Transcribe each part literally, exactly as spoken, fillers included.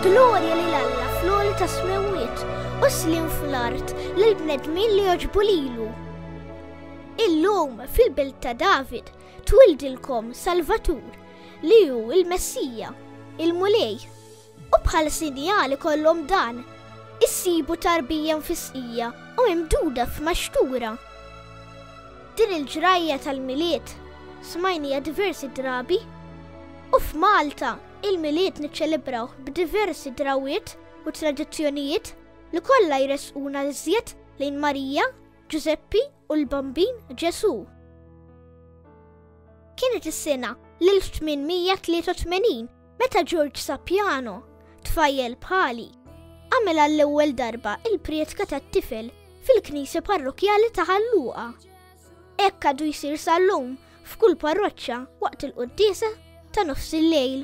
Glorja lil Alla fl-għoli tas-smewwiet u sliem fl-art lil bnedmin li jogħġbu lilu. Illum fil-belt ta' David twildilkom Salvatur li hu il-Messija, il-Mulej. U bħal sinjal ikollhom dan, issibu tarbija mfisqija u mimduda f'maxtura. Din il-ġrajja tal-Milied smajnija diversi drabi u f'Malta il-Milied niċċelebraw b'diversi drawiet u tradizzjonijiet li kollha jresquna iżjed lejn Marija, Ġużeppi u l-Bambin Ġesu. Kienet is-sena l-elf tmien mija tlieta u tmenin meta George Sapiano, tfajjel bħali, għamel għall-ewwel darba il-prietka tat-tifel fil-knisja parrokjali ta' Ħal Luqa. Hekk għadu jsir sal-lum f'kull parroċċa waqt il-quddiesa ta' nofs il-lejl.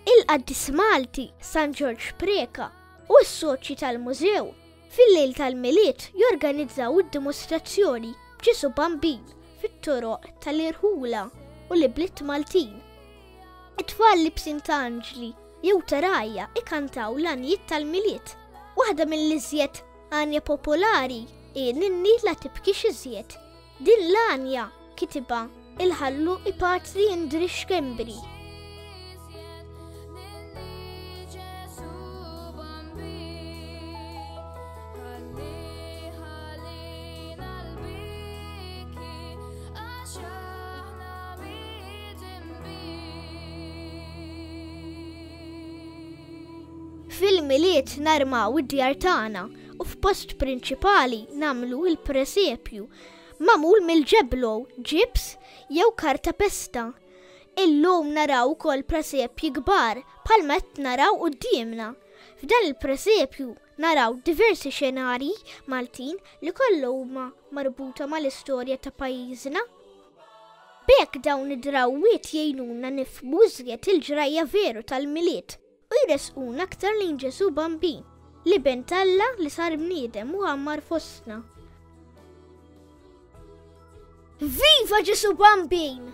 Il-qaddis Malti San Ġorġ Preca u s-soċji tal-mużew fil-lejl tal-Milied jorganizzaw id-dimostrazzjoni b'Ġesu Bambin fit-toroq tal-irħula u l-ibliet Maltin. It-tfal libsin ta' anġli jew ta' rgħajja ikantaw l-għanjiet tal-Milied. Waħda mill-iżjed għanja popolari hi Ninni la tibkix iżjed. Din l-għanja kitibha il-Ħalluqi Patri Indri Schembri. Fil-Milied narmaw id-djar tagħna u f'post prinċipali nagħmlu il-presepju magħmul mill-ġeblo, ġibs jew karta pesta. Illum naraw ukoll presepji kbar bħalma qed naraw quddiemna. F'dan il-presepju naraw diversi xenarji Maltin li kollha huma marbuta mal-istorja ta' pajjiżna. B'hekk dawn id-drawwiet jgħinuna nifhmu iżjed il-ġrajja veru tal-Milied u jresquna aktar lejn Ġesu Bambin, l-Iben t'Alla li sar bniedem u għammar fostna. Viva Ġesu Bambin!